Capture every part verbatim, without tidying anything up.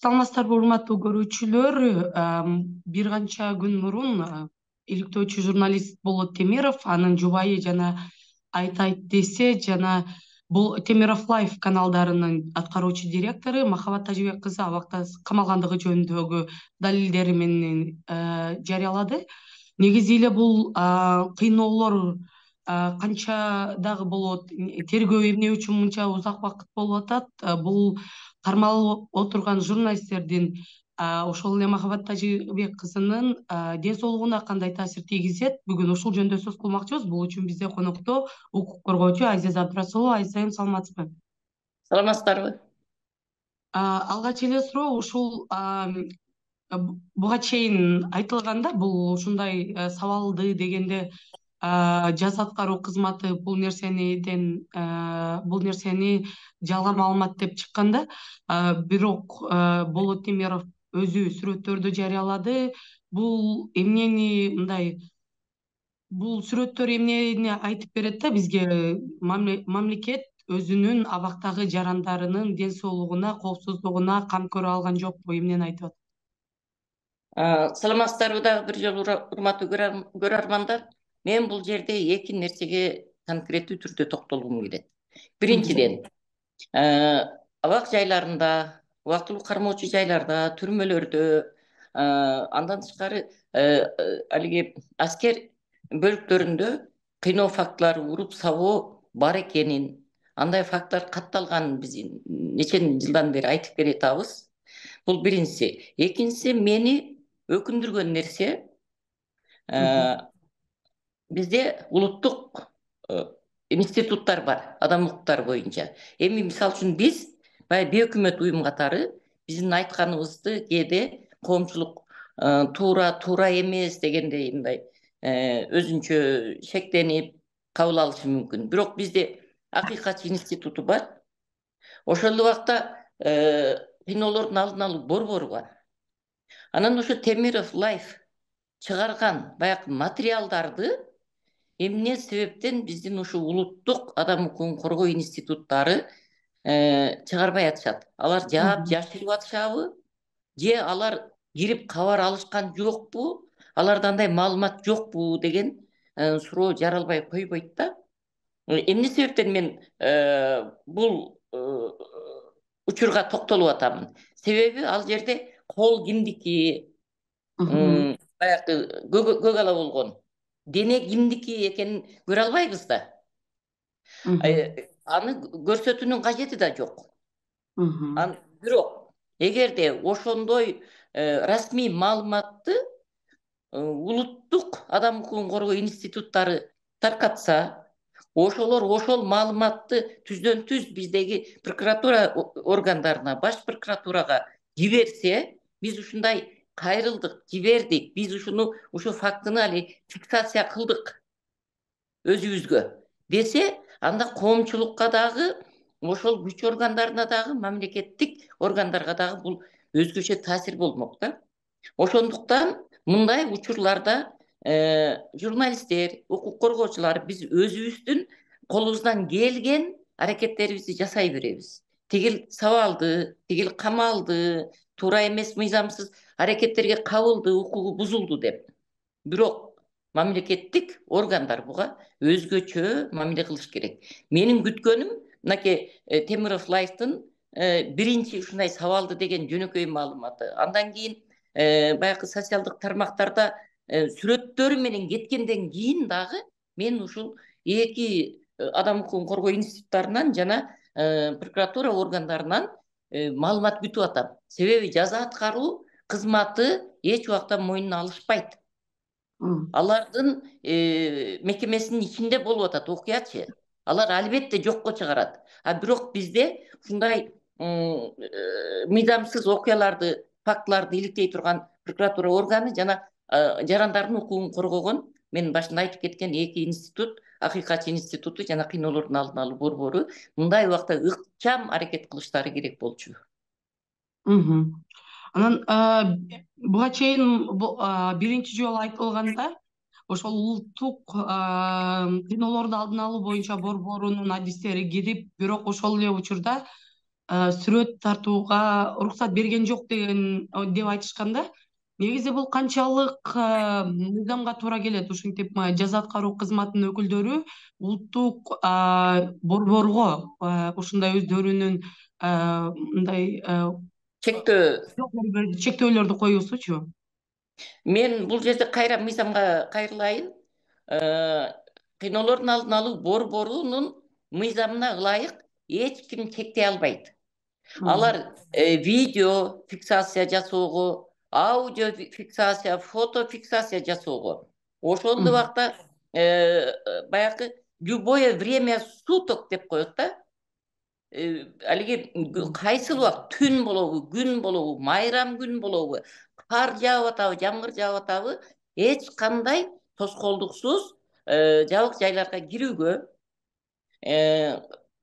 Саламатсыздарбы, урматтуу көрүүчүлөр. Бир канча күн мурун иликтөөчү журналист Болот Темиров, анын жубайы жана Айт айт десе жана бул Темиров Лайф каналдарынын аткаруучу директору Махабат Тажибек кызы абакта камалгандыгы жөнүндөгү далилдери менен жарыялады. Негизи эле бул кыйноолор канча дагы болот, тергөө эмне үчүн мынча узак убакыт болуп атат? Бул кармалып отурган журналисттердин, ошол эле Махабат Тажибек кызынын ден соолугуна кандай таасир тийгизет? Бүгүн ушул жөнүндө сөз кылмакчыбыз. Бул үчүн бизде конокто укук коргоочу Азиза Абдрасулова. Азизайым, саламатсызбы? Саламатсыздарбы? Алгач эле суроо ушул буга чейин айтылганда, бул ушундай сабалды дегенде жаз аткаруу кызматы бул нерсениден бул нерсени жалган маалымат деп чыкканда, бирок Болот Темиров өзү сүрөттөрдү жарыялады. Бул эмнени мындай бул сүрөттөр эмнени айтып берет да бизге? Мамлекет өзүнүн абактагы жарандарынын ден соолугуна, коопсуздугуна кам көрө алган жокпу? Эмнени айтып атат? Саламатсыздарбы дагы бир жолу, урматтуу көрөрмандар? Мен бул жерде эки нерсеге конкреттүү түрдө токтолгум келет. Биринчиден, абак жайларында, убактылуу кармоочу жайларда, түрмөлөрдө, андан тышкары алиги аскер бөлүктөрүндө кыйноо фактылары, уруп сабоо бар экенин, андай факттар катталганын биз нече жылдан бери айтып келатабыз. Бул биринчиси. Экинчиси, мени өкүндүргөн нерсе, бизде улуттук институттар бар, адам укуктары боюнча. Эми мисалы үчүн биз баягы бейөкмөт уюм катары биздин айтканыбызды кээде коомчулук туура, туура эмес дегендей мындай өзүнчө шектенип кабыл алышы мүмкүн. Бирок бизде акыйкатчы институту бар. Ошол убакта кыйноолордун алдын алуу борбору бар. Анан ошо Темиров Лайф чыгарган баягы материалдарды эмне себептен биздин ушу улуттук адам укугун коргоо институттары чыгарбай атышат? Алар жаап жашырып атышабы? Же алар кирип кабар алышкан жокпу? Аларда андай маалымат жокпу деген суроо жаралбай койбойт да. Эмне себептен мен бул учурга токтолуп атамын? Себеби ал жерде кол кимдики, баягы көк ала болгон дене кимдики экенин көрө албайбыз да. Аны көрсөтүүнүн кажети да жок. Бирок эгерде ошондой расмий маалыматты улуттук адам укугун коргоо институттары таркатса, ошолор ошол маалыматты түздөн түз биздеги прокуратура органдарына, баш прокуратурага жиберсе, биз ушундай кайрылдык, жибердик, биз ушуну ушу фактыны али фиксация кылдык өзүбүзгө десе, анда коомчулукка дагы, ошол күч органдарына дагы, мамлекеттик органдарга дагы бул өзгөчө таасир болмок да. Ошондуктан мындай учурларда журналисттер, укук коргоочулар биз өзүбүздүн колубуздан келген аракеттерибизди жасай беребиз. Тигил сабалды, тигил камалды, туура эмес мыйзамсыз аракеттерге кабылды, укугу бузулду деп. Бирок мамлекеттик органдар буга өзгөчө мамиле кылыш керек. Менин күткөнүм мынакей Темиров Лайфтын биринчи ушундай сабалды деген жөнөкөй маалыматы. Андан кийин баягы социалдык тармактарда сүрөттөрү менен кеткенден кийин дагы мен ушул эки адам укугун коргоо институттарынан жана прокуратура органдарынан маалымат күтүп атам. Себеби жаза аткаруу кызматы эч убакта мойнуна алышпайт. Алардын мекемесинин ичинде болуп атат окуячы. Алар албетте жокко чыгарат. А бирок бизде ушундай мыйзамсыз окуяларды, фактыларды иликтей турган прокуратура органы жана жарандардын укугун коргогон, мен башында айтып кеткен эки институт, акыйкатчы институту жана кыйноолордун алдын алуу борбору мындай убакта ыкчам аракет кылыштары керек болчу. Анан буга чейин биринчи жолу айтылганда, ошол улуттук кыйноолорду алдын алуу боюнча борборунун адистери кирип, бирок ошол эле учурда сүрөт тартууга уруксат берген жок деген деп айтышканда, негизи бул канчалык мыйзамга туура келет? Ушинтип жаза аткаруу кызматынын өкүлдөрү улуттук борборго ушундай өздөрүнүн мындай чектөө чектөөлөрдү коюусучу? Мен бул жерде кайра мыйзамга кайрылайын. Кыйноолордун алдын алуу борборунун мыйзамына ылайык эч ким чектей албайт. Алар видео фиксация жасоого, аудио фиксация, фото фиксация жасоого, ошол убакта баягы любое время суток деп коет да. Алиги кайсыл убакыт, түн болобу, күн болобу, майрам күн болобу, кар жаап атабы, жамгыр жаап атабы, эч кандай тоскоолдуксуз жабык жайларга кирүүгө,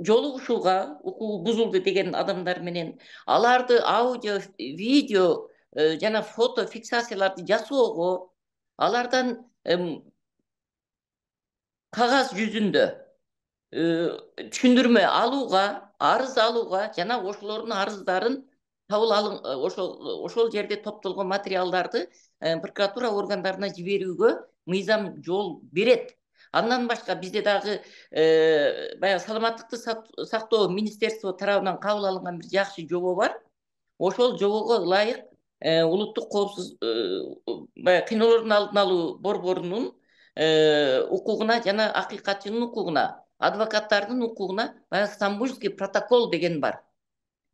жолугушууга, укугу бузулду деген адамдар менен аларды аудио, видео жана фото фиксацияларды жасоого, алардан кагаз жүзүндө түшүндүрмө алууга, арыз алууга жана ошолордун арыздарын кабыл алын ошол ошол жерде топтолгон материалдарды прокуратура органдарына жиберүүгө мыйзам жол берет. Андан башка бизде дагы баягы саламаттыкты сактоо министерство тарабынан кабыл алынган бир жакшы жобо бар. Ошол жобого ылайык улуттук коопсуз баягы кыйноолордун алдын алуу борборунун укугуна жана акыйкатчынын укугуна, адвокаттардын укугуна баягы Стамбульский протокол деген бар.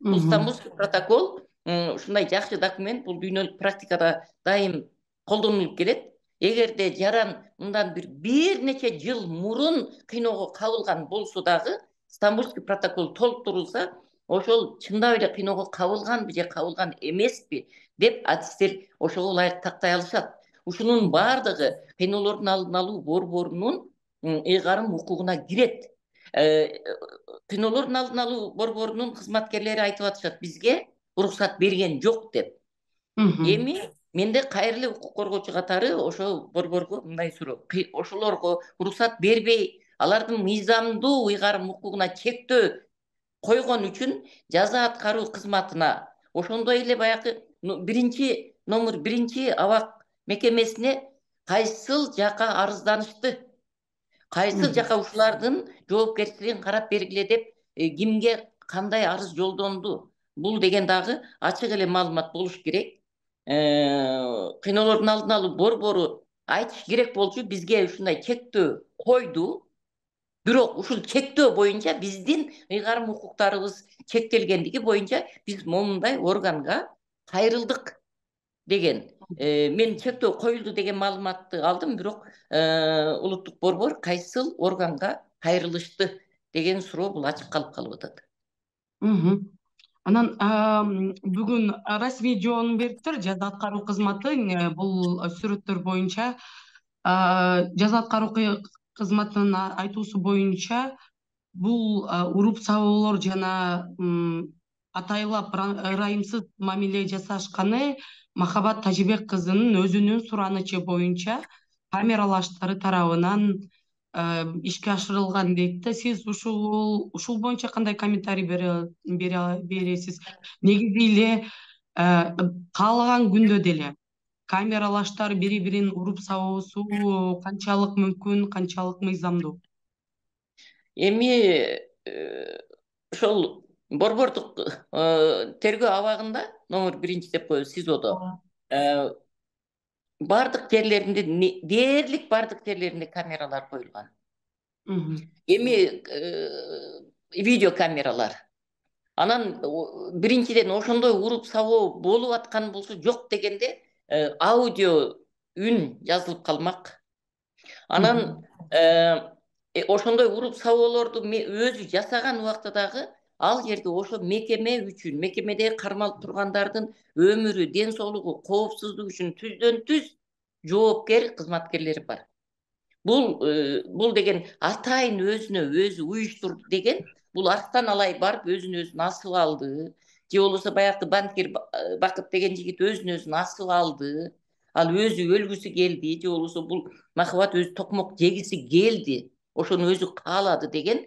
Бул Стамбульский протокол ушундай жакшы документ, бул дүйнөлүк практикада дайым колдонулуп келет. Эгерде жаран мындан бир бир нече жыл мурун кыйноого кабылган болсо дагы, Стамбульский протокол толуктурулса, ошол чындап эле кыйноого кабылганбы же кабылган эмеспи деп адистер ошого ылайык тактай алышат. Ушунун баардыгы кыйноолордун алдын алуу борборунун ыйгарым укугуна кирет. Кыйноолордун алдын алуу борборунун кызматкерлери айтып атышат, бизге уруксат берген жок деп. Эми менде кайра эле укук коргоочу катары ошол борборго мындай суроо: ошолорго уруксат бербей, алардын мыйзамдуу ыйгарым укугуна чектөө койгон үчүн жаза аткаруу кызматына, ошондой эле баягы биринчи номер биринчи абак мекемесине кайсыл жака арызданышты, кайсыл жака ушулардын жоопкерчилигин карап бергиле деп кимге кандай арыз жолдонду, бул деген дагы ачык эле маалымат болуш керек. Кыйноолордун алдын алуу борбору айтыш керек болчу, бизге ушундай чектөө койду. Бирок ушул чектөө боюнча биздин ыйгарым укуктарыбыз чектелгендиги боюнча биз момундай органга кайрылдык деген. Мен чектөө коюлду деген маалыматты алдым, бирок улуттук борбор кайсыл органга кайрылышты деген суроо бул ачык калып калып атат. Анан бүгүн расмий жообун бериптир жаза аткаруу кызматы бул сүрөттөр боюнча. Жаза аткаруу кызматынын айтуусу боюнча бул уруп сабоолор жана атайлап ырайымсыз мамиле жасашканы Махабат Тажибек кызынын өзүнүн суранычы боюнча камералаштары тарабынан ишке ашырылган дейт да. Сиз ушул ушул боюнча кандай комментарий бересиз? Негизи эле каалаган күндө деле камералаштар бири бирин уруп сабоосу канчалык мүмкүн, канчалык мыйзамдуу? Эми ошол борбордук тергөө абагында номер биринчи деп коебуз СИЗОдо бардык жерлеринде, дээрлик бардык жерлеринде камералар коюлган. Эми видео камералар. Анан биринчиден ошондой уруп сабоо болуп аткан болсо, жок дегенде аудио үн жазылып калмак. Анан ошондой уруп сабоолорду өзү жасаган убакта дагы ал жерде ошо мекеме үчүн, мекемеде кармалып тургандардын өмүрү, ден соолугу, коопсуздугу үчүн түздөн түз жоопкер кызматкерлери бар. Бул бул деген атайын өзүнө өзү уюштурду деген, бул арктан алай барып өзүн өзүн асып алды, же болбосо баягы банкир Бакыт деген жигит өзүн өзүн асып алды, ал өзү өлгүсү келди, же болбосо бул Махабат өзү токмок жегиси келди, ошону өзү каалады деген,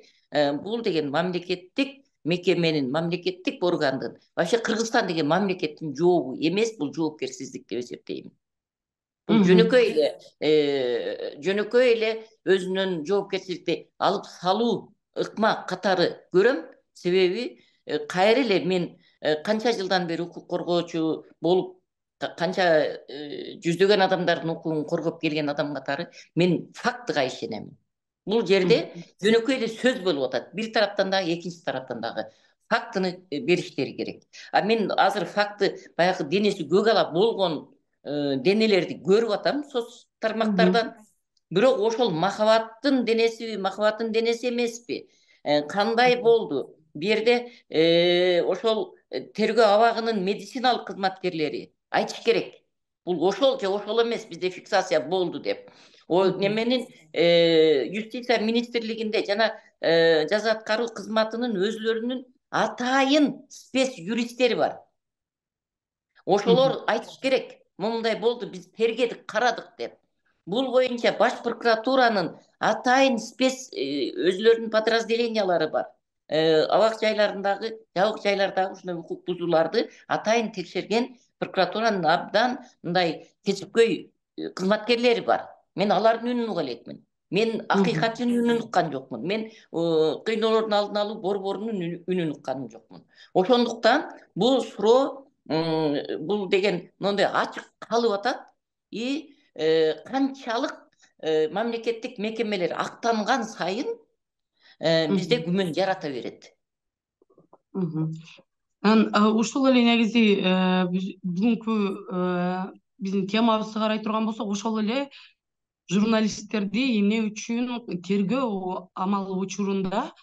бул деген мамлекеттик мекеменин, мамлекеттик органдын, вообще Кыргызстан деген мамлекеттин жообу эмес, бул жоопкерсиздик деп эсептейм. Бул жөнөкөй эле жөнөкөй эле өзүнүн жоопкерчиликти алып салуу ыкма катары көрөм. Себеби кайра эле мен канча жылдан бери укук коргоочу болуп, канча жүздөгөн адамдардын укугун коргоп келген адам катары мен фактыга ишенем. Бул жерде жөнөкөй эле сөз болуп атат. Бир тараптан дагы, экинчи тараптан дагы фактыны бериштери керек. А мен азыр факты баягы денеси көк ала болгон денелерди көрүп атам соц тармактардан. Бирок ошол махабаттын денеси, махабаттын денеси эмеспи? Кандай болду? Бу жерде ошол тергөө абагынын медициналык кызматкерлери айтыш керек. Бул ошол же ошол эмес, бизде фиксация болду деп. О неменин юстиция министрлигинде жана жаза аткаруу кызматынын өзлөрүнүн атайын спец юристтери бар. Ошолор айтыш керек. Мындай болду, биз тергедик, карадык деп. Бул боюнча баш прокуратуранын атайын спец өзлөрүнүн подразделениялары бар. Абак жайларындагы, жабык жайлардагы ушундай укук бузууларды атайын текшерген прокуратуранын абдан мындай кесипкөй кызматкерлери бар. Мен алардын үнүн уга элекмин. Мен акыйкатчынын үнүн уккан жокмун. Мен кыйноолордун алдын алуу борборунун үнүн уккан жокмун. Ошондуктан бул суроо бул деген мындай ачык калып атат. И канчалык мамлекеттик мекемелер актанган сайын бизде күмөн жарата берет. Ушул эле негизи бүгүнкү биздин темабызды карай турган болсок, ошол эле журналисттерди эмне үчүн тергөө амалы учурунда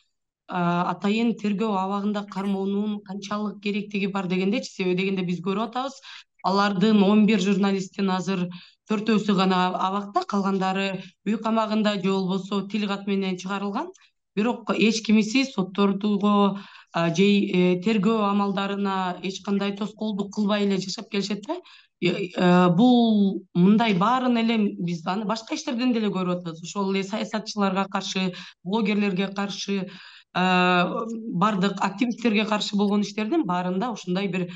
атайын тергөө абагында кармоонун канчалык керектиги бар дегендечи. Себеби дегенде биз көрүп атабыз, алардын он бир журналисттин азыр төртөөсү гана абакта, калгандары үй камагында же болбосо тил кат менен чыгарылган. Бирок эч кимиси соттордуго же тергөө амалдарына эч кандай тоскоолдук кылбай эле жашап келишет да. Бул мындай баарын эле биз аны башка иштерден деле көрүп атабыз. Ошол эле саясатчыларга каршы, блогерлерге каршы, бардык активисттерге каршы болгон иштердин баарында ушундай бир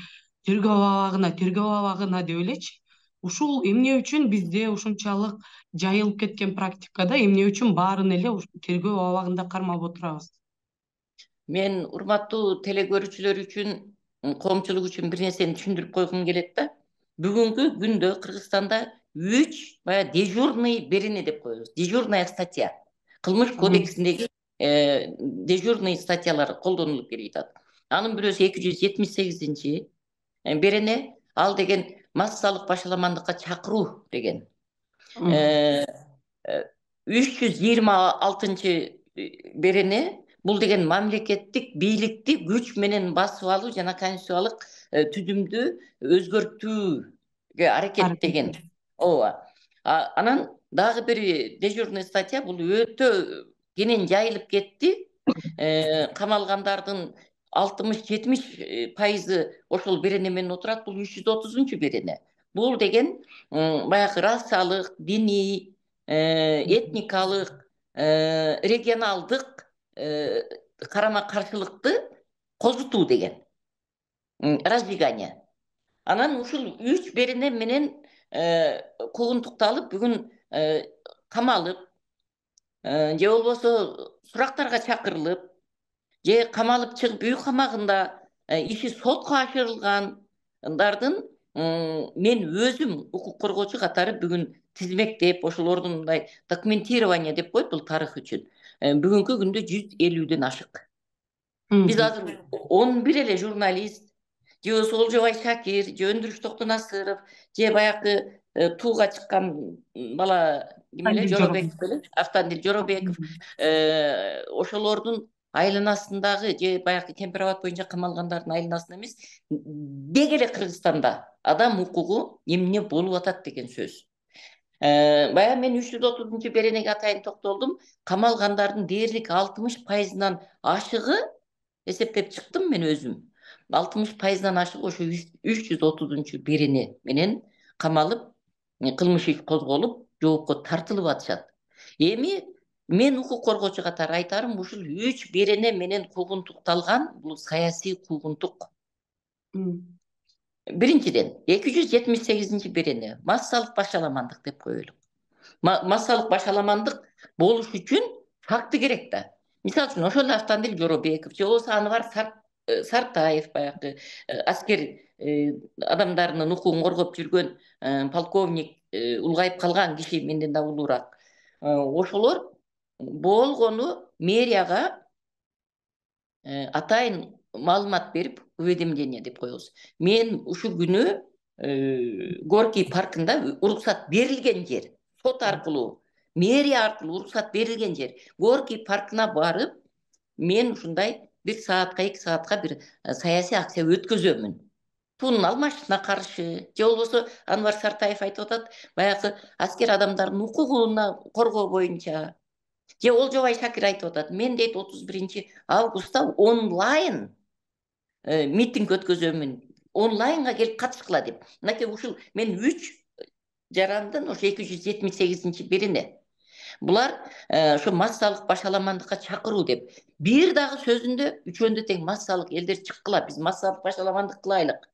тергөө абагына, тергөө абагына деп элечи. Ушул эмне үчүн бизде ушунчалык жайылып кеткен практикада эмне үчүн баарын эле тергөө абагында кармап отурабыз? Мен урматтуу теле көрүүчүлөр үчүн, коомчулук үчүн бир нерсени түшүндүрүп койгум келет да. Бүгүнкү күндө Кыргызстанда үч бая дежурный берене деп коебуз. Дежурная статья. Кылмыш кодексиндеги дежурный статьялар колдонулуп келип атат. Анын бирөөсү эки жүз жетимиш сегизинчи берене, ал деген массалык башаламандыкка чакыруу деген. үч жүз жыйырма алтынчы берене, бул деген мамлекеттик бийликти күч менен басып алуу жана конституциялык түзүмдү өзгөртүүгө аракет деген. Ооба. Анан дагы бир дежурный статья, бул өтө кенен жайылып кетти. Камалгандардын алтымыш жетимиш пайызы ошол берене менен отурат. Бул үч жүз отузунчу берене. Бул деген баягы расалык, диний, этникалык, регионалдык карама каршылыкты козутуу деген. Разжигание. Анан ушул үч берене менен куугунтукталып, бүгүн камалып, же болбосо сурактарга чакырылып, же камалып чыгып үй камагында иши сотко ашырылгандардын мен өзүм укук коргоочу катары бүгүн тизмектеп, ошолордун мындай документирование деп коет, бул тарых үчүн. Бүгүнкү күндө жүз элүүдөн ашык. Биз азыр он бир эле журналист, же болбосо Олжобай Шакир, же Өндүрүш Токтонасыров, же баягы тууга чыккан бала ким эле, Жоробеков эле, Автандил Жоробеков, ошолордун айланасындагы же баягы Кемпир-Абад боюнча камалгандардын айланасында эмес, деги эле Кыргызстанда адам укугу эмне болуп атат деген сөз. Баягы мен үч жүз отузунчу беренеге атайын токтолдум. Камалгандардын дээрлик алтымыш пайызынан ашыгы эсептеп чыктым мен өзүм. алтымыш пайыздан ашык ошо үч жүз отузунчу берене менен камалып, кылмыш иш козголуп, жоопко тартылып атышат. Эми мен укук коргоочу катары айтарым, ушул үч берене менен куугунтукталган бул саясий куугунтук. Биринчиден, эки жүз жетимиш сегизинчи берене массалык башаламандык деп коелу. Массалык башаламандык болуш үчүн факты керек да. Мисалы үчүн ошол Автандил Жоробеков же болбосо Анвар Сартаев, баягы аскер адамдарынын укугун коргоп жүргөн полковник, улгайып калган киши менден да улуураак. Ошолор болгону мэрияга атайын маалымат берип, уведомление деп коебуз. Мен ушул күнү Горький паркында уруксат берилген жер, сот аркылуу, мэрия аркылуу уруксат берилген жер, Горький паркына барып, мен ушундай бир саатка, эки саатка бир саясий акция өткөзөмүн. Тунун алмашына каршы, же болбосо Анвар Сартаев айтып атат, баягы аскер адамдардын укугуна коргоо боюнча. Же Олжобай Шакир айтып атат, мен дейт отуз биринчи августта онлайн митинг өткөзөмүн, онлайнга келип катышкыла деп. Мынакей ушул мен үч жарандын ошо эки жүз жетимиш сегизинчи берене. Булар ошо массалык башаламандыкка чакыруу деп. Бир дагы сөзүндө үчөөндө тең массалык элдер чыккыла, биз массалык башаламандык кылайлык,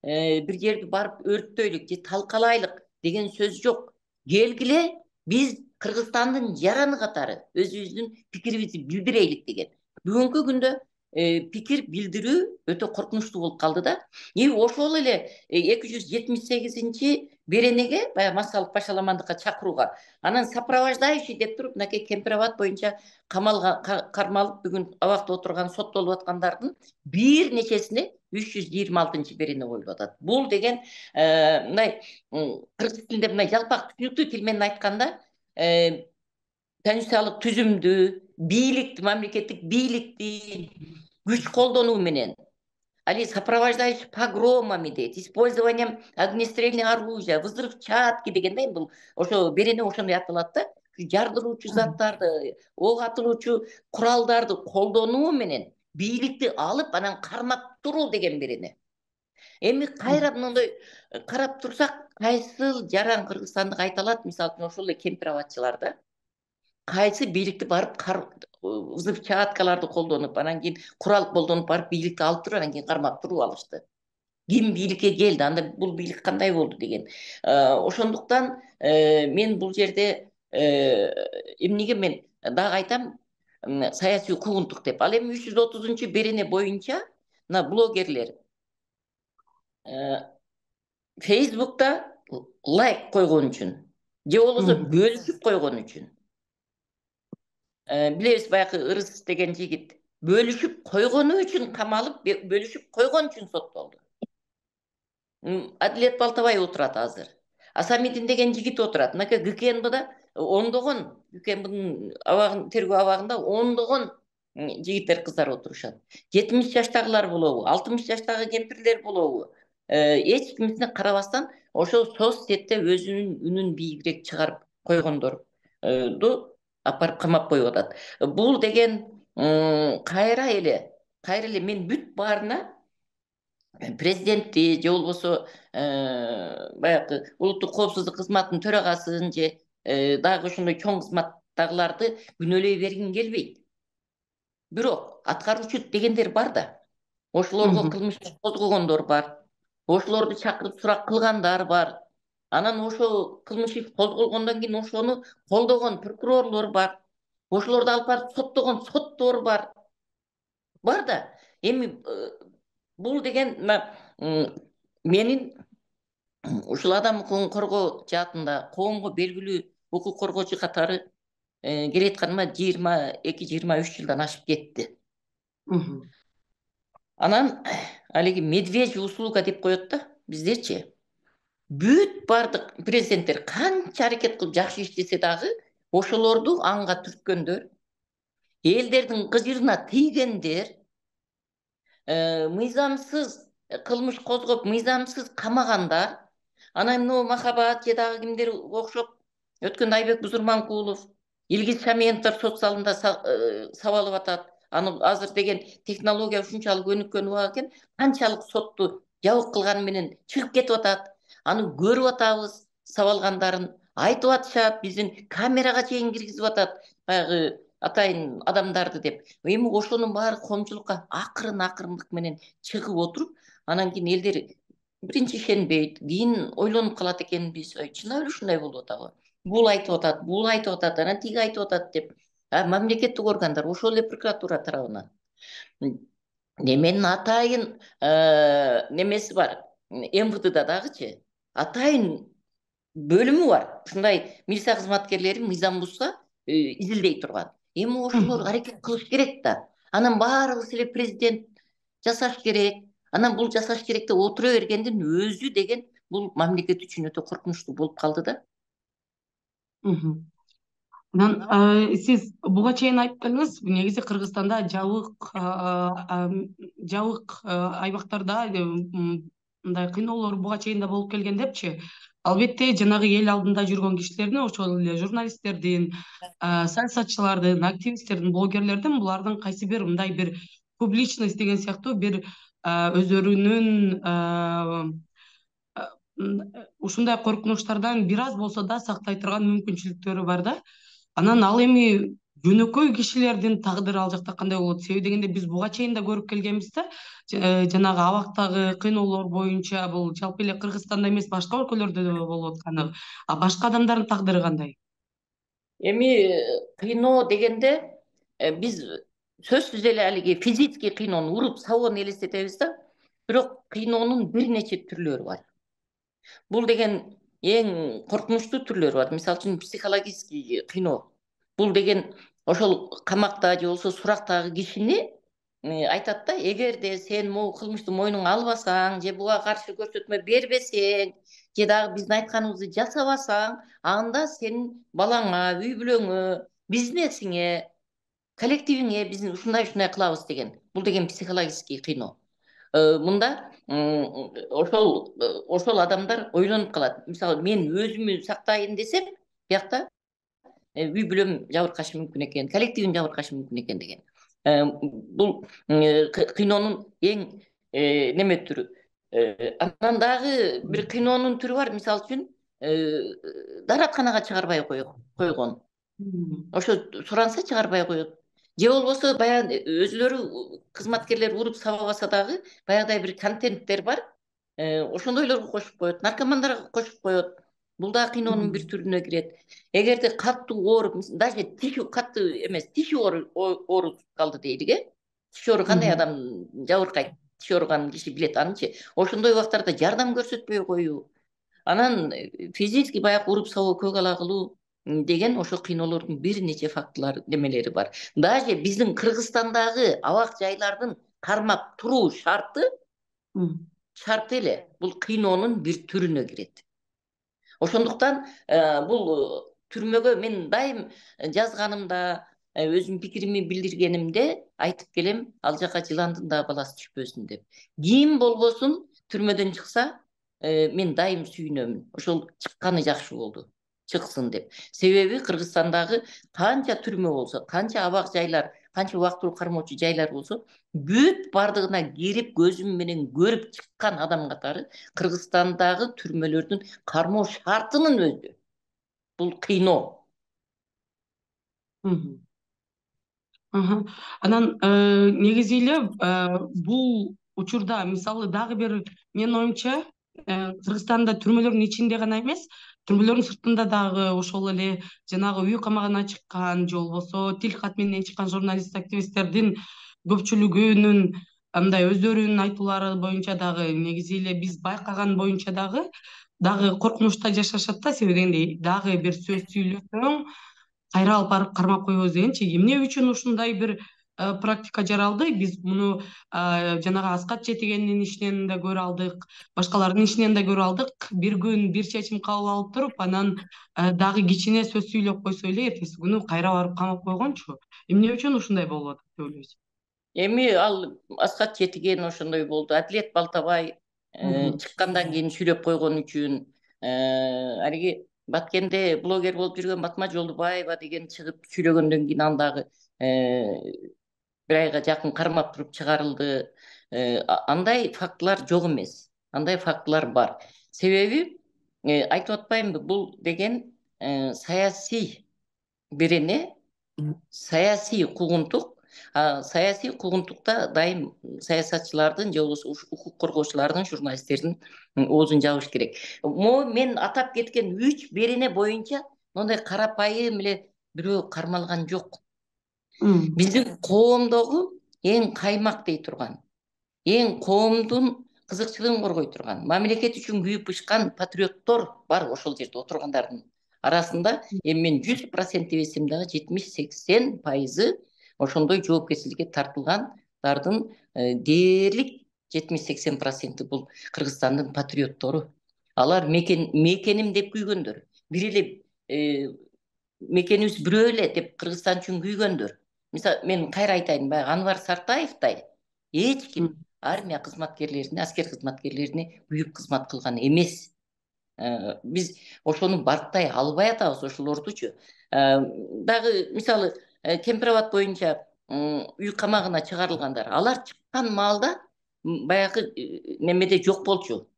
бир жерди барып өрттөйлүк же талкалайлык деген сөз жок. Келгиле, биз Кыргызстандын жараны катары өзүбүздүн пикирибизди билдирелик деген. Бүгүнкү күндө пикир билдирүү өтө коркунучтуу болуп калды да. И ошол эле эки жүз жетимиш сегизинчи беренеге, баягы массалык башаламандыкка чакырууга, анан сопровождающий деп туруп, мынакей Кемпирабад боюнча камалга кармалып бүгүн абакта отурган, соттолуп аткандардын бир нечесине үч жүз жыйырма алтынчы берене коюлуп атат. Бул деген мындай кыргыз тилинде мындай жалпак түшүнүктүү тил менен айтканда, конституциялык түзүмдү, бийликти, мамлекеттик бийликти күч колдонуу менен, али сопровождающий погромами дейт, использованием огнестрельных оружия, взрывчатки дегендей, бул ошо берене ошондой аталат да. Жардыруучу заттарды, ок атылуучу куралдарды колдонуу менен бийликти алып, анан кармап туруу деген берене. Эми кайра мындай карап турсак, кайсыл жаран Кыргызстандык айта алат, мисалы үчүн ошол эле кемпирабадчыларда кайсы бийликти барып взрывчаткаларды колдонуп, анан кийин курал колдонуп барып бийликти алып туруп, анан кийин кармап туруп алышты. Ким бийликке келди, анда бул бийлик кандай болду деген. Ошондуктан мен бул жерде эмнеге мен дагы айтам, саясий куугунтук деп. Ал эми үч жүз отузунчу берене боюнча мына блогерлер Facebook'ta лайк койгон үчүн, же болбосо бөлүшүп койгон үчүн. Билебиз, баягы Ырыс деген жигит бөлүшүп койгону үчүн камалып, бөлүшүп койгон үчүн соттолду. Адилет Балтабай отурат азыр. Асамидин деген жигит отурат. Мынакей ГКНБда ондогон, ГКНБдын абагын тергөө абагында ондогон жигиттер, кыздар отурушат. жетимиш жаштагылар болобу, алтымыш жаштагы кемпирлер болобу, эч кимисине карабастан ошо соцсетте өзүнүн үнүн бийигирээк чыгарып койгондорду апарып камап коюп атат. Бул деген кайра эле, кайра эле мен бүт баарына президентти же болбосо баягы улуттук коопсуздук кызматынын төрагасын же дагы ошондой чоң кызматтагыларды күнөөлөй бергим келбейт. Бирок аткаруучу дегендер бар да. Ошолорго кылмыш козгогондор бар. Ошолорду чакырып сурак кылгандар бар. Анан ошо кылмыш иш козголгондон кийин ошону колдогон прокурорлор бар. Ошолорду алып барып соттогон соттор бар. Бар да. Эми бул деген менин ушул адам укугун коргоо жаатында коомго белгилүү укук коргоочу катары келатканыма жыйырма эки жыйырма үч жылдан ашып кетти. Анан алиги медвежья услуга деп коет да биздерчи. Бүт бардык президенттер канча аракет кылып жакшы иштесе дагы, ошолорду анга түрткөндөр, элдердин кыжырына тийгендер, мыйзамсыз кылмыш козгоп, мыйзамсыз камагандар, анан мына Махабат же дагы кимдер окшоп, өткөндө Айбек Бузурманкулов, Илгиз Шаменовдор сот залында сабалып атат. Аны азыр деген технология ушунчалык өнүккөн убак экен, канчалык сотту жабык кылганы менен чыгып кетип атат. Аны көрүп атабыз, сабалгандарын айтып атышат, биздин камерага чейин киргизип атат. баягы атайын адамдарды деп. Эми ошонун баары коомчулукка акырын акырындык менен чыгып отуруп, анан кийин элдер биринчи ишенбейт, кийин ойлонуп калат экенбиз. Чынабы эле ушундай болуп атабы? Бул айтып атат, бул айтып атат, анан тиги айтып атат деп. А мамлекеттик органдар ошол эле прокуратура тарабынан. Неменин атайын немеси бар. эм вэ дэ да дагычы атайын бөлүмү бар. Ушундай милиция кызматкерлери мыйзам бузса изилдей турган. Эми ошолор аракет кылыш керек да. Анан баарыбыз эле президент жасаш керек. Анан бул жасаш керек деп отура бергендин өзү деген бул мамлекет үчүн өтө коркунучтуу болуп калды да. Анан сиз буга чейин айтып келдиңиз, негизи Кыргызстанда жабык жабык аймактарда мындай кыйноолор буга чейин да болуп келген депчи. Албетте жанагы эл алдында жүргөн кишилердин, ошол эле журналисттердин, саясатчылардын, активисттердин, блогерлердин булардын кайсы бир мындай бир публичность деген сыяктуу бир өздөрүнүн ушундай коркунучтардан бир аз болсо да сактай турган мүмкүнчүлүктөрү бар да. Анан ал эми жөнөкөй кишилердин тагдыры ал жакта кандай болот? Себеби дегенде биз буга чейин да көрүп келгенбиз да. Жанагы абактагы кыйноолор боюнча бул жалпы эле Кыргызстанда эмес, башка өлкөлөрдө да болуп атканы. А башка адамдардын тагдыры кандай? Эми кыйноо дегенде биз сөзсүз эле алиги физический кыйноону, уруп сабоону элестетебиз да. Бирок кыйноонун бир нече түрлөрү бар. Бул деген эң коркунучтуу түрлөрү бар. Мисалы үчүн психологический кыйноо. Бул деген ошол камакта же болбосо сурактагы кишини айтат да, эгерде сен могу кылмышты мойнуңа албасаң, же буга каршы көрсөтмө бербесең, же дагы биздин айтканыбызды жасабасаң, анда сенин балаңа, үй бүлөңө, бизнесиңе, коллективиңе биз ушундай ушундай кылабыз деген. Бул деген психологический кыйноо. Мында ошол ошол адамдар ойлонуп калат. Мисалы мен өзүмү сактайын десем, биякта үй бүлөм жабыркашы мүмкүн экен, коллективим жабыркашы мүмкүн экен деген. Бул кыйноонун эң неме түрү. Анан дагы бир кыйноонун түрү бар. Мисалы үчүн дааратканага чыгарбай койгон. Ошо суранса чыгарбай коет. Же болбосо баягы өзүлөрү кызматкерлер уруп сабабаса дагы баягыдай бир контенттер бар. Ошондойлорго кошуп коет, наркомандарга кошуп коет. Бул да кыйноонун бир түрүнө кирет. Эгерде катуу ооруп, даже тиши катуу эмес, тиши ооруп калды дейдик, э? Тиши ооруп кандай адам жабыркайт? Тиши ооруган киши билет анычы. Ошондой убактарда жардам көрсөтпөй коюу. Анан физически баягы уруп сабоо, көк ала кылуу деген ошо кыйноолордун бир нече фактылар немелери бар. Даже биздин Кыргызстандагы абак жайлардын кармап туруу шарты шарты эле бул кыйноонун бир түрүнө кирет. Ошондуктан бул түрмөгө мен дайым жазганымда, өзүмдүн пикирими билдиргенимде айтып келем, ал жака жыландын да баласы түшпөсүн деп. Ким болбосун түрмөдөн чыкса, мен дайым сүйүнөмүн. Ошол чыкканы жакшы болду. Чыксын деп. Себеби Кыргызстандагы канча түрмө болсо, канча абак жайлар, канча убактылуу кармоочу жайлар болсо, бүт бардыгына кирип көзүм менен көрүп чыккан адам катары Кыргызстандагы түрмөлөрдүн кармоо шартынын өзү бул кыйноо. Анан негизи эле бул учурда мисалы дагы бир менин оюмча Кыргызстанда түрмөлөрдүн ичинде гана эмес, түрмөлөрдүн сыртында дагы ошол эле жанагы үй камагына чыккан же болбосо тил кат менен чыккан журналист, активисттердин көпчүлүгүнүн мындай өздөрүнүн айтуулары боюнча дагы негизи эле биз байкаган боюнча дагы дагы коркунучта жашашат да. Себеби дегенде дагы бир сөз сүйлөсөң кайра алып барып кармап коебуз дегенчи. Эмне үчүн ушундай бир практика жаралды? Биз муну жанагы Аскат Четигендин ишинен да көрө алдык, башкалардын ишинен да көрө алдык. Бир күн бир чечим кабыл алып туруп, анан дагы кичине сөз сүйлөп койсо эле эртеси күнү кайра барып камап койгончу. Эмне үчүн ушундай болуп атат деп ойлойсуз? Эми ал Аскат Четиген ошондой болду. Адилет Балтабай чыккандан кийин сүйлөп койгон үчүн, алиги Баткенде блогер болуп жүргөн Батма Жолдубаева деген чыгып сүйлөгөндөн кийин андагы бир айга жакын кармап туруп чыгарылды. Андай фактылар жок эмес. Андай фактылар бар. Себеби айтып атпаймынбы, бул деген саясий берене саясий куугунтук, саясий куугунтукта дайым саясатчылардын же болбосо укук коргоочулардын, журналисттердин оозун жабыш керек. Могу мен атап кеткен үч берене боюнча мындай карапайым эле бирөө кармалган жок. Биздин коомдогу эң каймак дей турган, эң коомдун кызыкчылыгын коргой турган, мамлекет үчүн күйүп бышкан патриоттор бар ошол жерде отургандардын арасында. Эми мен жүз процент дебесем дагы жетимиш сексен пайызы ошондой жоопкерчиликке тартылгандардын дээрлик жетимиш сексен проценти бул Кыргызстандын патриоттору. Алар мекен мекеним деп күйгөндөр. Бир эле мекенибиз бирөө эле деп Кыргызстан үчүн күйгөндөр. Мисалы, мен кайра айтайын, баягы Анвар Сартаевдай эч ким армия кызматкерлерине, аскер кызматкерлерине күйүп кызмат кылган эмес. Биз ошону барктай албай атабыз ошолордучу. Дагы мисалы Кемпирабад боюнча үй камагына чыгарылгандар, алар чыккан маалда баягы немеде жок болчу.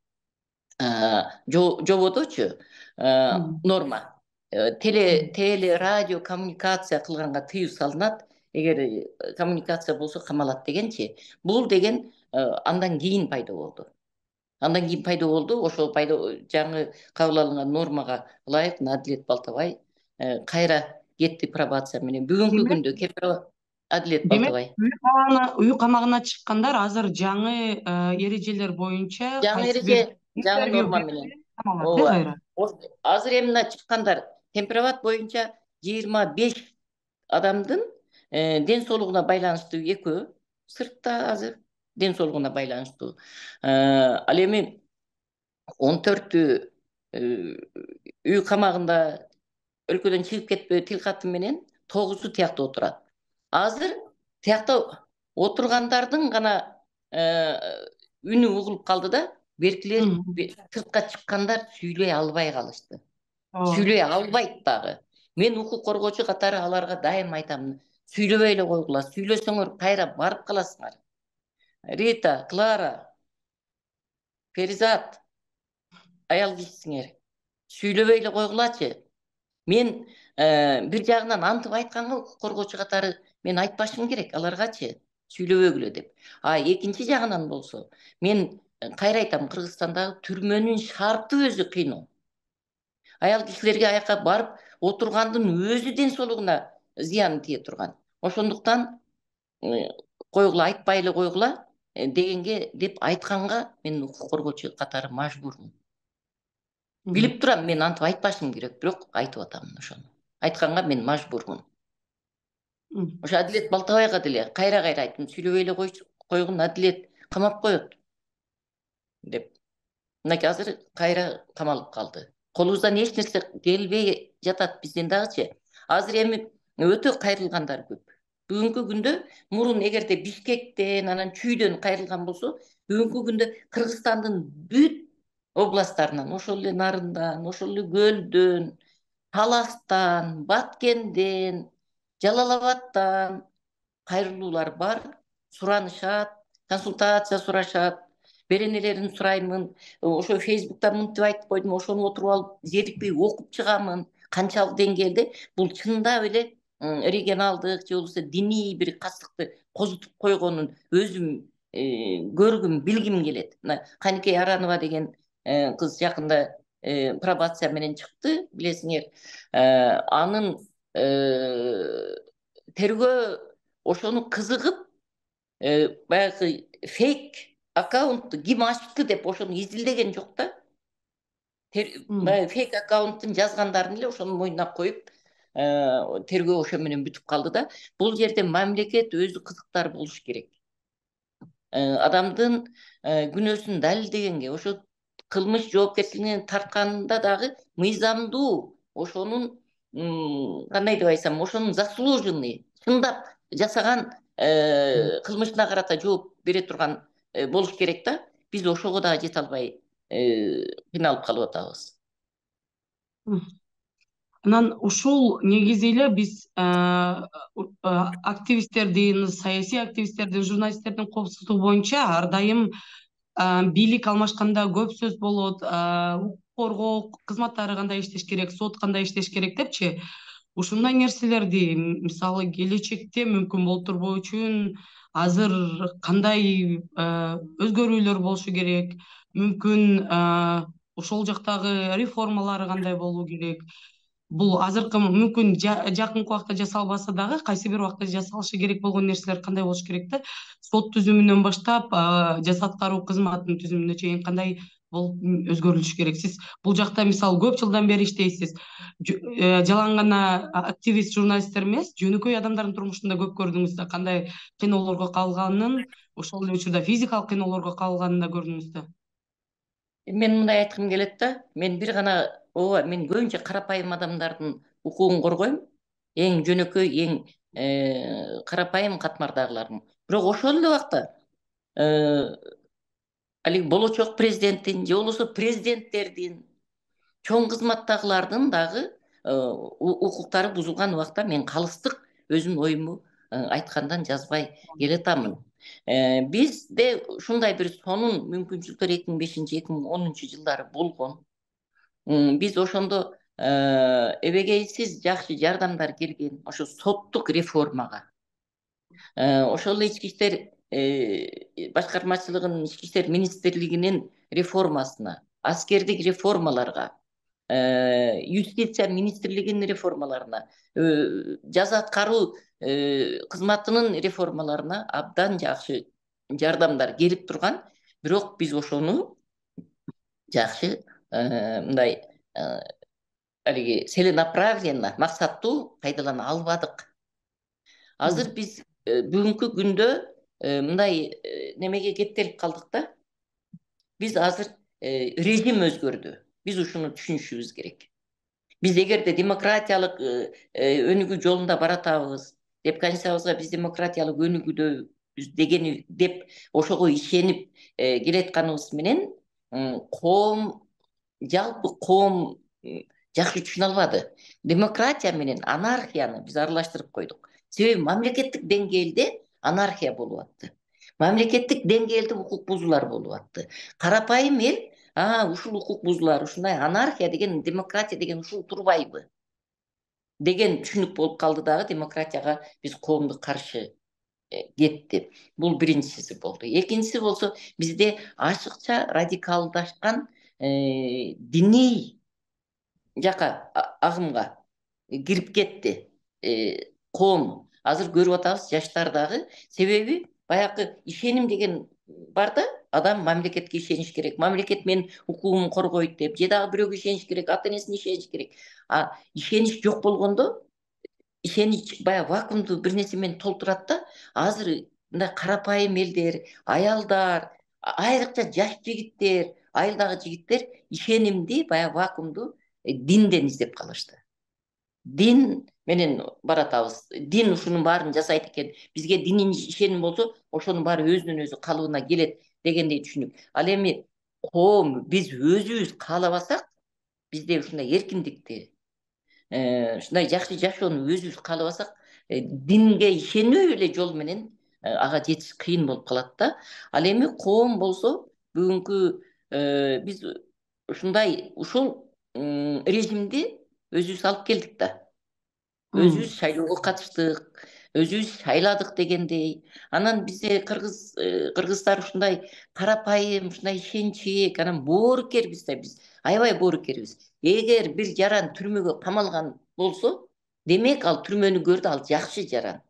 Жободочу норма. Теле, теле, радио, коммуникация кылганга тыюу салынат. Эгер коммуникация болсо камалат дегенчи. Бул деген андан кийин пайда болду. Андан кийин пайда болду. Ошол пайда жаңы кабыл алынган нормага ылайык Адилет Балтабай кайра кетти пробация менен. Бүгүнкү күндө Кемпирабад Адилет Балтабай. Демек, үй камагына чыккандар азыр жаңы эрежелер боюнча, жаңы эреже, жаңы норма менен камалат. Азыр эми мына чыккандар Кемпирабад боюнча жыйырма беш адамдын ден соолугуна байланыштуу экөө сыртта азыр ден соолугуна байланыштуу. Ал эми он төртү үй камагында өлкөдөн чыгып кетпөө тил каты менен тогузу тиякта отурат. Азыр тиякта отургандардын гана үнү угулуп калды да, беркилер сыртка чыккандар сүйлөй албай калышты. Сүйлөй албайт дагы. Мен укук коргоочу катары аларга дайым айтам, сүйлөбөй эле койгула, сүйлөсөңөр кайра барып каласыңар. Рита, Клара, Перизат, аял кишисиңер, сүйлөбөй эле койгулачы. Мен бир жагынан антып айтканга укук коргоочу катары мен айтпашым керек аларгачы, сүйлөбөгүлө деп. А экинчи жагынан болсо, мен кайра айтам, Кыргызстандагы түрмөнүн шарты өзү кыйноо. Аял кишилерге аяка барып отургандын өзү ден соолугуна зыяны тие турган. Ошондуктан койгула, айтпай эле койгула дегенге деп айтканга мен укук коргоочу катары мажбурмун. Билип турам, мен антып айтпашым керек, бирок айтып атам ошону. Айтканга мен мажбурмун. Ошо Адилет Балтабайга деле кайра-кайра айттым, сүйлөбөй эле койгун, Адилет камап коет деп. Мынакей азыр кайра камалып калды. Колубуздан эч нерсе келбей жатат бизден дагычы. Азыр эми өтө кайрылгандар көп. Бүгүнкү күндө мурун эгерде Бишкектен, анан Чүйдөн кайрылган болсо, бүгүнкү күндө Кыргызстандын бүт областтарынан, ошол эле Нарындан, ошол эле Көлдөн, Таластан, Баткенден, Жалал Абадтан кайрылуулар бар, суранышат, консультация сурашат. Беренелерин сураймын, ошо Фейсбукта мынтип айтып койдум, ошону отуруп алып зерикпей окуп чыгамын. Канчалык деңгээлде бул чындап эле регионалдык же болбосо диний бир кастыкты козутуп койгонун өзүм көргүм, билгим келет. Каникей Аранова деген кыз жакында пробация менен чыкты, билесиңер. Анын тергөө ошону кызыгып, баягы фейк аккаунтту ким ачты деп ошону изилдеген жок да. Фейк аккаунттун жазгандарын эле ошонун мойнуна коюп, тергөө ошо менен бүтүп калды да. Бул жерде мамлекет өзү кызыктар болуш керек. Адамдын күнөөсүн далилдегенге, ошо кылмыш жоопкерчилигине тартканында дагы мыйзамдуу, ошонун кандай деп айтсам, ошонун заслуженный, чындап жасаган кылмышына карата жооп бере турган болуш керек да. Биз ошого дагы жете албай кыйналып калып атабыз. Анан ушул негизи эле биз активисттердин, саясий активисттердин, журналисттердин коопсуздугу боюнча ар дайым бийлик алмашканда көп сөз болот, укук коргоо кызматтары кандай иштеш керек, сот кандай иштеш керек депчи. ушундай нерселерди мисалы келечекте мүмкүн болуп турбоо үчүн азыр кандай өзгөрүүлөр болушу керек, мүмкүн ошол жактагы реформалар кандай болуу керек? Бул азыркы мүмкүн жакынкы убакта жасалбаса дагы кайсы бир убакта жасалышы керек болгон нерселер кандай болуш керек да? Сот түзүмүнөн баштап жаза аткаруу кызматынын түзүмүнө чейин кандай болуп өзгөрүлүш керек? Сиз бул жакта мисалы көп жылдан бери иштейсиз. Жалаң гана активист, журналисттер эмес, жөнөкөй адамдардын турмушунда көп көрдүңүз да, кандай кыйноолорго калганын, ошол эле учурда физикалык кыйноолорго калганын да көрдүңүз да. Мен мындай айткым келет да, мен бир гана ооба мен көбүнчө карапайым адамдардын укугун коргойм, эң жөнөкөй, эң карапайым катмардагылардын. Бирок ошол эле убакта алиги болочок президенттин же болбосо президенттердин, чоң кызматтагылардын дагы укуктары бузулган убакта мен калыстык өзүмдүн оюмду айткандан жазбай келатамын. Бизде ушундай бир сонун мүмкүнчүлүктөр эки миң бешинчи эки миң онунчу жылдары болгон. Биз ошондо эбегейсиз жакшы жардамдар келген ошо соттук реформага. Ошол эле ички иштер башкармачылыгынын, ички иштер министрлигинин реформасына, аскердик реформаларга, юстиция министрлигинин реформаларына, жаза аткаруу кызматынын реформаларына абдан жакшы жардамдар келип турган. Бирок биз ошону жакшы мындай алиги целенаправленно, максаттуу пайдалана албадык. Азыр биз бүгүнкү күндө мындай немеге кептелип калдык да. Биз азыр режим өзгөрдү. Биз ушуну түшүнүшүбүз керек. Биз эгерде демократиялык өнүгүү жолунда баратабыз деп, конституциябызга биз демократиялык өнүгүүдөбүз деген деп ошого ишенип келатканыбыз менен коом, жалпы коом жакшы түшүнө албады. Демократия менен анархияны биз аралаштырып койдук. Себеби мамлекеттик деңгээлде анархия болуп атты. Мамлекеттик деңгээлде укук бузуулар болуп атты. Карапайым эл, а ушул укук бузуулар, ушундай анархия деген, демократия деген ушул турбайбы деген түшүнүк болуп калды дагы, демократияга биз коомдук каршы кетти. Бул биринчиси болду. Экинчиси болсо, бизде ашыкча радикалдашкан диний жака агымга кирип кетти коом. Азыр көрүп атабыз, жаштар дагы, себеби баягы ишеним деген бар да, адам мамлекетке ишениш керек, мамлекет менин укугумду коргойт деп, же дагы бирөөгө ишениш керек, ата энесине ишениш керек. А ишенич жок болгондо, ишенич баягы вакуумду бир нерсе менен толтурат да. Азыр мындай карапайым элдер, аялдар, айрыкча жаш жигиттер, айылдагы жигиттер ишенимди, баягы вакуумду динден издеп калышты. Дин менен баратабыз. Дин ушунун баарын жасайт экен. Бизге диний ишеним болсо, ошонун баары өзүнөн өзү калыбына келет дегендей түшүнүк. Ал эми коом биз өзүбүз каалабасак, бизде ушундай эркиндикти, ушундай жакшы жашоону өзүбүз каалабасак, динге ишенүү эле жол менен ага жетиш кыйын болуп калат да. Ал эми коом болсо бүгүнкү биз ушундай ушул режимди өзүбүз алып келдик да. Өзүбүз шайлоого катыштык, өзүбүз шайладык дегендей. Анан бизде кыргыз кыргыздар ушундай карапайым, ушундай ишенчээк, анан боорукербиз да биз. Аябай боорукербиз. Эгер бир жаран түрмөгө камалган болсо, демек ал түрмөнү көрдү, ал жакшы жаран.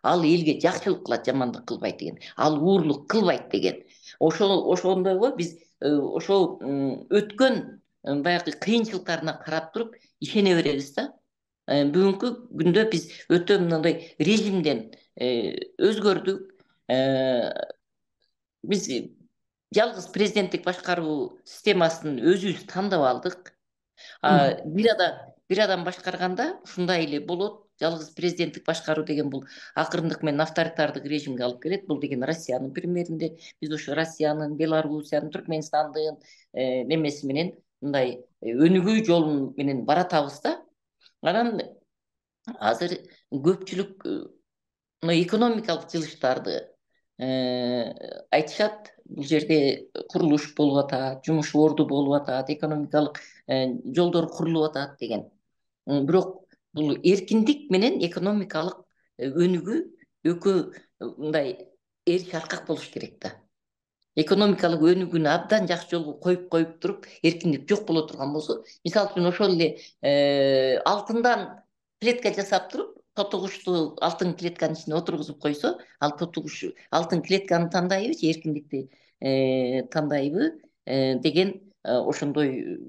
Ал элге жакшылык кылат, жамандык кылбайт деген. Ал уурлук кылбайт деген. Ошол ошондойго биз ошол өткөн баягы кыйынчылыктарына карап туруп ишене беребиз да. Бүгүнкү күндө биз өтө мындай режимден өзгөрдүк. Биз жалгыз президенттик башкаруу системасын өзүбүз тандап алдык. Бир адам бир адам башкарганда ушундай эле болот. Жалгыз президенттик башкаруу деген бул акырындык менен авторитардык режимге алып келет. Бул деген Россиянын примеринде биз ошо Россиянын, Белоруссиянын, Түркмөнстандын немеси менен мындай өнүгүү жолу менен баратабыз да. Анан азыр көпчүлүк экономикалык жылыштарды айтышат. Бул жерде курулуш болуп атат, жумуш орду болуп атат, экономикалык жолдор курулуп атат деген. Бирок бул эркиндик менен экономикалык өнүгүү экөө мындай эр шаркак болуш керек да. Экономикалык өнүгүүнү абдан жакшы жолго коюп коюп туруп эркиндик жок боло турган болсо, мисалы үчүн ошол эле алтындан клетка жасап туруп, тотугучту алтын клетканын ичине отургузуп койсо, ал тотугуч алтын клетканы тандайбы же эркиндикти тандайбы деген ошондой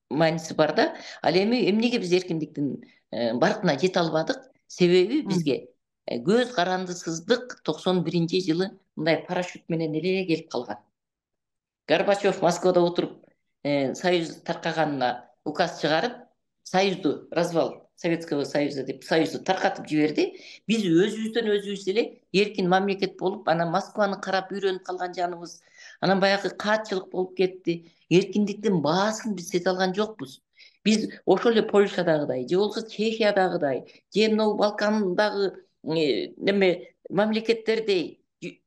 мааниси бар да. Ал эми эмнеге биз эркиндиктин баркына жете албадык? Себеби бизге көз карандысыздык токсон биринчи жылы мындай парашют менен эле келип калган. Горбачев Москвада отуруп Союз таркаганына указ чыгарып, Союзду развал Советского Союза деп Союзду таркатып жиберди. Биз өзүбүздөн өзүбүз эле эркин мамлекет болуп, анан Москваны карап үйрөнүп калган жаныбыз. Анан баягы каатчылык болуп кетти. Эркиндиктин баасын биз сезе алган жокпуз. Биз ошол эле Польшадагыдай, же болбосо Чехиядагыдай, же могу Балкандагы неме мамлекеттердей,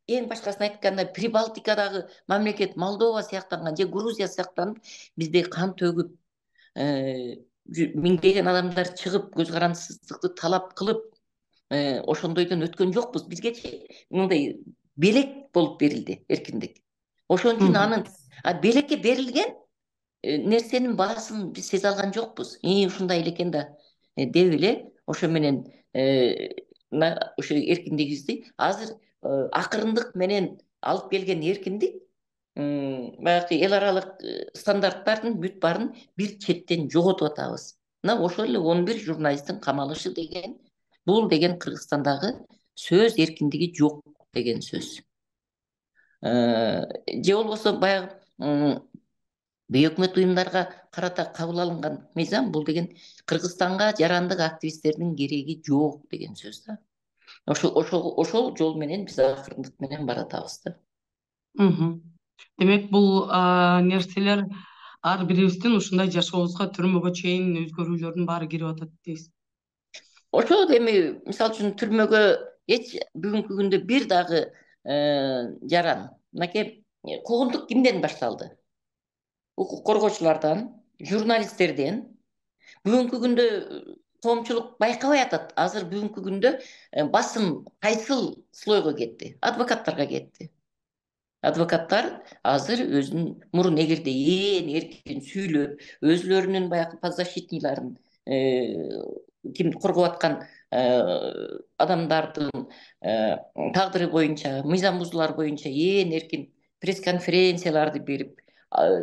эң башкасын айтканда Прибалтикадагы мамлекет Молдова сыяктанган же Грузия сыяктанып, бизде кан төгүп, миңдеген адамдар чыгып, көз карандысыздыкты талап кылып, ошондойдон өткөн жокпуз. Бизгечи мындай белек болуп берилди эркиндик. Ошон үчүн анын белекке берилген нерсенин баасын биз сезе алган жокпуз. И ушундай эле экен да деп эле ошо менен ошо эркиндигибизди азыр акырындык менен алып келген эркиндик баягы эл аралык стандарттардын бүт баарын бир четтен жоготуп атабыз. Мына ошол эле он бир журналисттин камалышы деген, бул деген Кыргызстандагы сөз эркиндиги жок деген сөз. Же болбосо баягы бейөкмөт уюмдарга карата кабыл алынган мыйзам, бул деген Кыргызстанга жарандык активисттердин кереги жок деген сөз да. Ошол ошол ошол жол менен биз акырындык менен баратабыз да. Демек бул нерселер ар бирибиздин ушундай жашообузга түрмөгө чейин өзгөрүүлөрдүн баары кирип атат дейсиз. Ошол эми мисалы үчүн түрмөгө эч бүгүнкү күндө бир дагы жаран, мынакей куугунтук кимден башталды? Укук коргоочулардан, журналисттерден. Бүгүнкү күндө коомчулук байкабай атат. Азыр бүгүнкү күндө басым кайсыл слойго кетти? Адвокаттарга кетти. Адвокаттар азыр өзүнүн мурун эгерде ээн эркин сүйлөп, өзүлөрүнүн баягы подзащитныйларын, ким коргоп аткан адамдардын тагдыры боюнча, мыйзам бузуулар боюнча ээн эркин пресс-конференцияларды берип,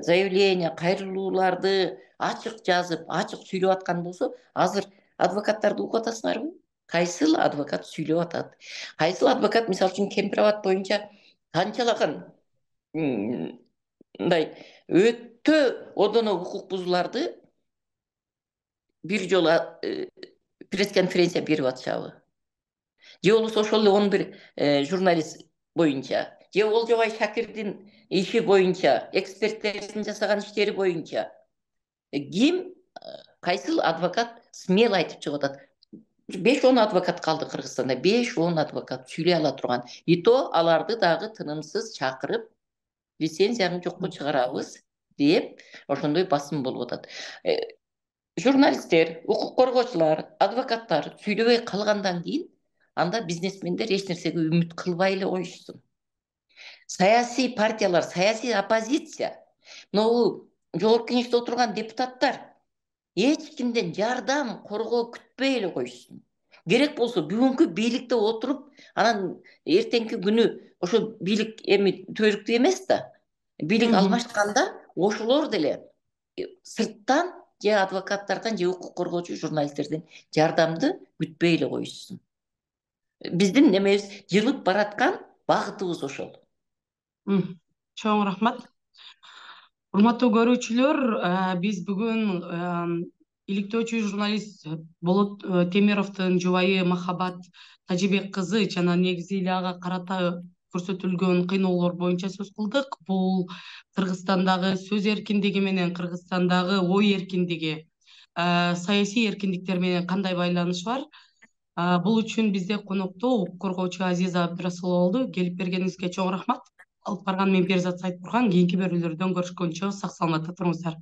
заявление, кайрылууларды ачык жазып, ачык сүйлөп аткан болсо, азыр адвокаттарды угуп атасыңарбы? Кайсыл адвокат сүйлөп атат? Кайсыл адвокат мисалы үчүн Кемпирабад боюнча канчалаган мындай өтө одоно укук бузууларды бир жолу пресс-конференция берип атышабы? Же болбосо ошол эле он бир журналист боюнча, же Олжобай Шакирдин иши боюнча, эксперттердин жасаган иштери боюнча ким, кайсыл адвокат смело айтып чыгып атат? беш он адвокат калды Кыргызстанда, беш он адвокат сүйлөй ала турган. И то аларды дагы тынымсыз чакырып, лицензияны жокко чыгарабыз деп ошондой басым болуп атат. Журналисттер, укук коргоочулар, адвокаттар сүйлөбөй калгандан кийин анда бизнесмендер эч нерсеге үмүт кылбай эле коюшсун. Саясий партиялар, саясий оппозиция, могу жогорку кеңеште отурган депутаттар эч кимден жардам, коргоо күтпөй эле коюшсун. Керек болсо бүгүнкү бийликте отуруп, анан эртеңки күнү ошо бийлик эми төрүктүү эмес да. Бийлик алмашканда ошолор деле сырттан же адвокаттардан же укук коргоочу журналисттерден жардамды күтпөй эле коюшсун. Биздин немебиз жылып бараткан багытыбыз ошол. Чоң рахмат. Урматтуу көрүүчүлөр, биз бүгүн иликтөөчү журналист Болот Темировдун жубайы Махабат Тажибек кызы жана негизи эле ага карата көрсөтүлгөн кыйноолор боюнча сөз кылдык. Бул Кыргызстандагы сөз эркиндиги менен Кыргызстандагы ой эркиндиги, саясий эркиндиктер менен кандай байланышы бар? Бул үчүн бизде конокто укук коргоочу Азиза Абдрасулова болду. Келип бергениңизге чоң рахмат. Алып барган мен Перизат Сайтбурган. Кийинки берүүлөрдөн көрүшкөнчө сак саламатта туруңуздар.